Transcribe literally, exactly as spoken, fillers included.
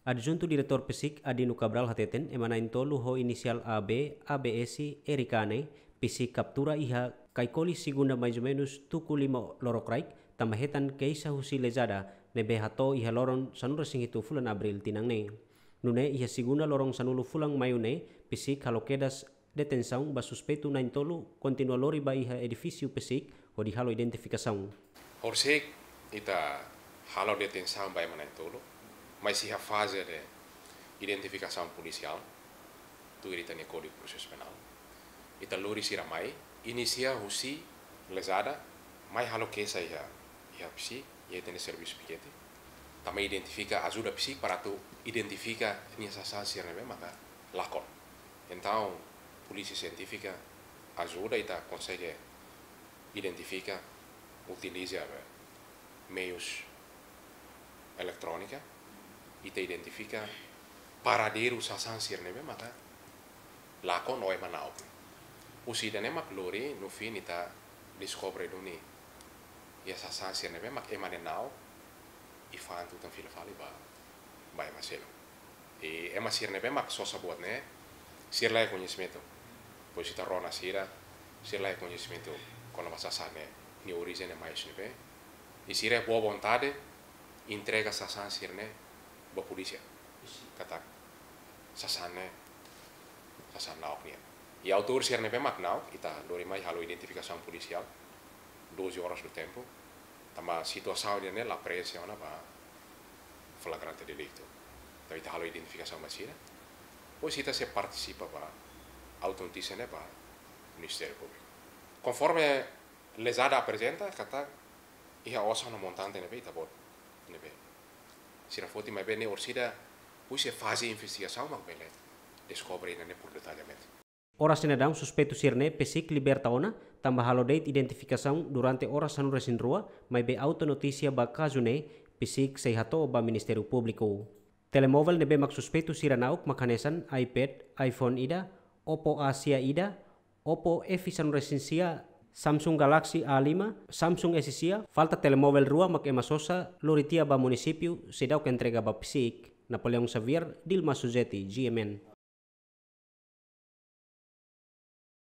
Adjuntu Diretór PCIC Adino Cabral hateten ema na'in-tolu ho inisiál A B, A B S, R K ne'e, PCIC kaptura iha Caicoli segunda maizumenus tuku lima lorokraik, tanba hetan keixa husi Lezada ne'ebé hato'o iha loron sanulu-resin-hitu fulan Abríl tinan ne'e. Nune'e iha segunda loron sanulu fulan Maiu ne'e, PCIC halo kedas detensaun ba suspeitu na'in-tolu kontinua lori ba iha edifísiu PCIC hodi halo identifikasaun. Horisehik ita halo detensaun ba ema na'in-tolu, mas iha faze de identifikasaun polisiál, tuir ita-nia Kódigu Prosesu Penál. Ita lori sira mai, inisia husi Lezada, mai halo keixa iha, iha PCIC, iha ita-nia servisu pikete. Tanba identifika, ajuda PCIC para atu identifika nia sasán sira ne'ebé maka lakon. Entaun, polísia sientífika ajuda ita konsege identifika, utiliza, eh, meius eletrónika, ita identifika paradeiru sasán sira ne'ebé maka lakon ou ema na'ok. Husi ida-ne'e mak lori, no fim ita deskobre duni iha sasán sira ne'ebé mak ema ne'e na'ok, i fa'an tutan fila fali ba, ba ema seluk. I ema sira ne'ebé mak sosa buat ne'e, sira la iha koñesimentu. Depois ita rona sira, sira la iha koñesimentu kona-ba sasán ne'e, nia orijen ne'e mai husi ne'ebé. I sira boa vontade entrega sasán sira ne'e ba polísia. Katak sasán ne'e sasán na'ok nian. I autór sira ne'ebé mak na'ok, ita lori mai halo identifikasaun polisiál, doze horas do tempo. Tanba situasaun ida-ne'e la preenxe ona ba flagrante delicto. Entaun ita halo identifikasaun ba sira. Depois ita sei partisipa ba auto-notísia ne'e ba Ministériu Públiku. Konforme Lezada aprezenta, katak iha osan no montante ne'ebé ita-boot ne'ebé sira foti, maibé ne'e orsida husi faze investigasaun mak bele deskobre ida-ne'e por detalhamentu. Oras ne'e daudaun suspeitu sira-ne'e PCIC liberta ona, tanba halo de'it identifikasaun durante oras sanulu-resin-rua, maibé auto-notísia ba kazu ne'e PCIC sei hato'o ba Ministériu Públiku. Telemovel ne'ebé mak suspeitu sira na'ok mak hanesan iPad, iPhone ida, Oppo A sia ida, Oppo F sanulu-resin-sia, Samsung Galaxy A lima, Samsung S sia, falta telemovel rua mak ema sosa lori tiha ba munisípiu seidauk entrega ba PCIC. Napoleão Xavier, Dilma Suzeti, G M N.